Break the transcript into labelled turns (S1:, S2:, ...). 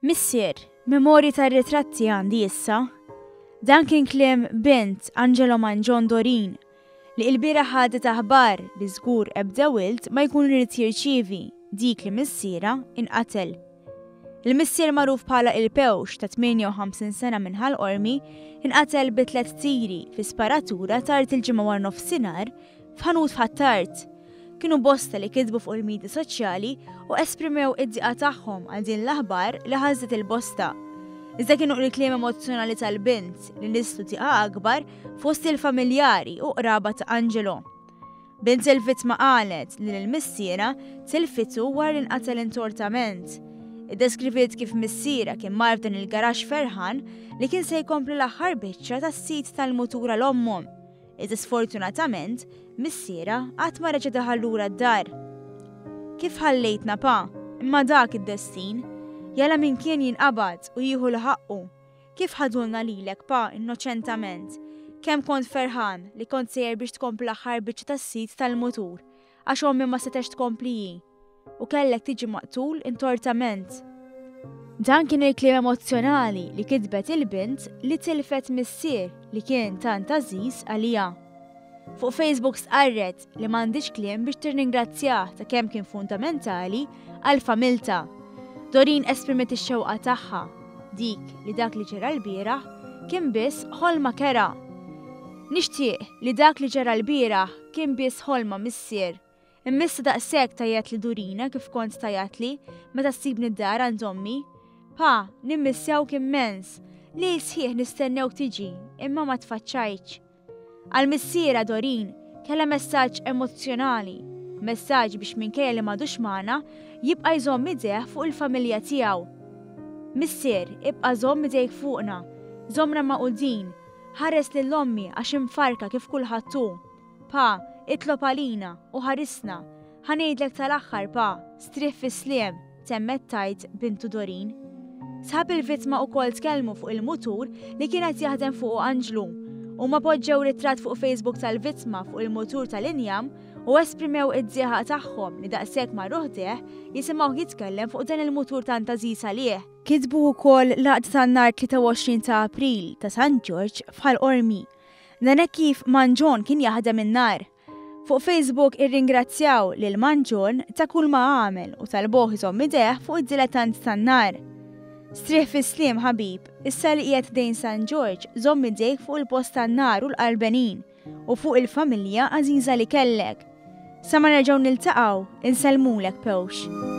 S1: Missier, memorji tar-ritratti għandi issa. Dan kien kliem bint Angelo Mangion Dorin li ilbieraħ ħadet aħbar li żgur ebda wild ma jkun irid jirċievi, dik li missierha inqatel. Il-missier magħruf bħala Il-Pewx ta' 58 sena minn Ħal Qormi inqatel bi tlett tiri fi sparatura tard il-Ġimgħa waranofsinhar f'ħanut f'Ħ'Attard. Kienu bosta li kitbu fuq il-midja soċjali u esprimew id-diqa tagħhom għal din l-aħbar li ħasdet il-bosta. Iżda kienu il-kliem emozzjonali tal-bint li nisslu diqa akbar fost il-familjari u qraba ta' Angelo. Bint il-vittma qalet li lil missierha tilfitu wara li nqatel intortament. Iddeskriviet kif missierha kien mar f'dan il-garaxx ferħan li kien se jkompli l-aħħar biċċa tas-sit tal-mutur għal ommhom. Iżda sfortunatament, missierha qatt ma reġa' daħal lura d-dar. Kif ħallejtna pa, imma dak id-destin. Jalla min kien jinqabad u jieħu 'l ħaqqu. Kif ħadulna lilek, pa, innoċentament? Kemm kont ferħan li kont sejjer biex tkompli l-aħħar biċċa tas-sit tal-mutur, għax ommi ma setgħetx tkompli hi. U kellek tiġi maqtul intortament. Dan kien il-kliem emozzjonali li kitbet il-bint li tilfet missier li kien tant għażiż għaliha. Fuq Facebook stqarret li m'għandhiex kliem biex tirringrazzjah ta' kemm kien fundamentali għal familtha. Doreen esprimiet ix-xewqa tagħha, dik li dak li ġara lbieraħ kien biss ħolma kerha. Nixtieq li dak li ġara lbieraħ kien biss ħolma missier. Imma issa daqshekk tgħajjatli Dorina kif kont tgħajjatli meta ssibni d-dar għand ommi. Pa, nimmissjawk immens. Lejl sħiħ nistennewk tiġi, imma ma tfaċċajtx. Għal missierha Doreen kellha messaġġ emozzjonali, messaġġ biex minkejja li m'għadux magħna, jibqa' jżomm idejh fuq il-familja tiegħu. Missier, ibqa' żomm idejk fuqna, żommna magħqudin, ħares lil ommi għax imfarrka kif kulħadd hu. Pa, itlob għalina u ħarisna. Ħa ngħidlek tal-aħħar pa, strieħ fis-sliem, temmet tgħid bintu Doreen. Sħab il-vittma ukoll tkellmu fuq il-mutur li kien qed jaħdem fuqu Anġlu. Huma poġġew ritratt fuq Facebook tal-vittma fuq il-mutur tal-injam u esprimew id-dieqa tagħhom li daqshekk marru ħdejh jisimgħuh jitkellem fuq dan il-mutur tant għażiż għalih. Kitbu wkoll l-Għaqda tan-Nar 23 ta' April ta' San Ġorġ f'Ħal Qormi. Dan hekk kif Mangion kien jaħdem in-nar. Fuq Facebook irringrazzjaw lil Mangion ta' kull ma għamel u talbuh iżomm idejh fuq id-dilettant tan-nar. Strieħ fis-sliem ħabib, issa li qiegħed ħdejn San Ġorġ żomm idejk fuq il-post tan-nar u l-qalbenin u fuq il-familja għażiża li kellek. Sa ma nerġgħu niltaqgħu, insellmulek Pewx.